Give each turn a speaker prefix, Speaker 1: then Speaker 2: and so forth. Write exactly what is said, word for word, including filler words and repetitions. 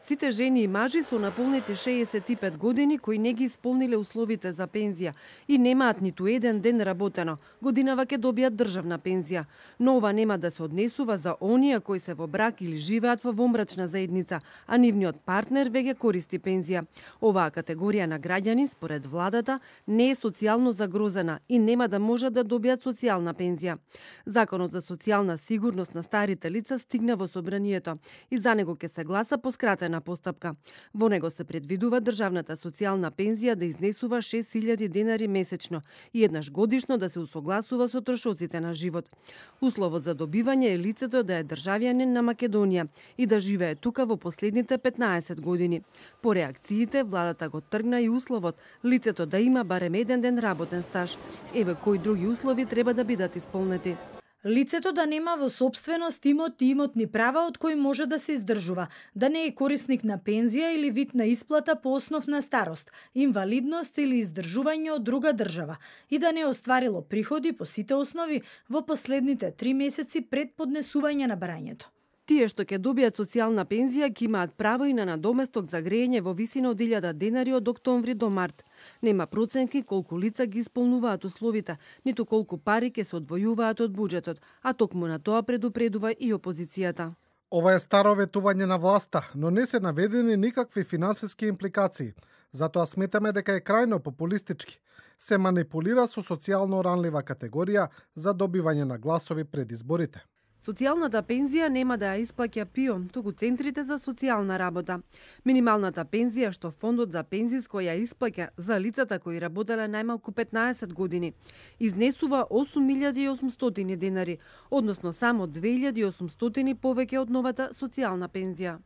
Speaker 1: Сите жени и мажи со наполнети шеесет и пет години кои не ги исполниле условите за пензија и немаат ниту еден ден работено, годинава ќе добијат државна пензија. Но ова нема да се однесува за оние кои се во брак или живеат во вонбрачна заедница, а нивниот партнер веќе користи пензија. Оваа категорија на граѓани, според владата, не е социјално загрозена и нема да можат да добијат социјална пензија. Законот за социјална сигурност на старите лица стигна во собранието и за него ќе се гласа по скратена постапка. Во него се предвидува државната социјална пензија да изнесува шест илјади денари месечно и еднаш годишно да се усогласува со трошоците на живот. Условот за добивање е лицето да е државјанин на Македонија и да живее тука во последните петнаесет години. По реакциите, владата го тргна и условот лицето да има барем еден ден работен стаж. Еве кои други услови треба да бидат исполнети.
Speaker 2: Лицето да нема во собственост имот и имотни права од кои може да се издржува, да не е корисник на пензија или вид на исплата по основ на старост, инвалидност или издржување од друга држава и да не е остварило приходи по сите основи во последните три месеци пред поднесување на барањето.
Speaker 1: Тие што ќе добијат социјална пензија ќе имаат право и на надоместок за грејење во висина од илјада денари од октомври до март. Нема проценки колку лица ги исполнуваат условите, ниту колку пари ќе се одвојуваат од буџетот, а токму на тоа предупредува и опозицијата.
Speaker 3: Ова е старо ветување на власта, но не се наведени никакви финансиски импликации. Затоа сметаме дека е крајно популистички. Се манипулира со социјално ранлива категорија за добивање на гласови пред изборите.
Speaker 1: Социјалната пензија нема да ја исплаќа ПИО, туку центрите за социјална работа. Минималната пензија што фондот за пензиско ја исплаќа за лицата кои работеле најмалку петнаесет години, изнесува осум илјади и осумстотини денари, односно само две илјади и осумстотини повеќе од новата социјална пензија.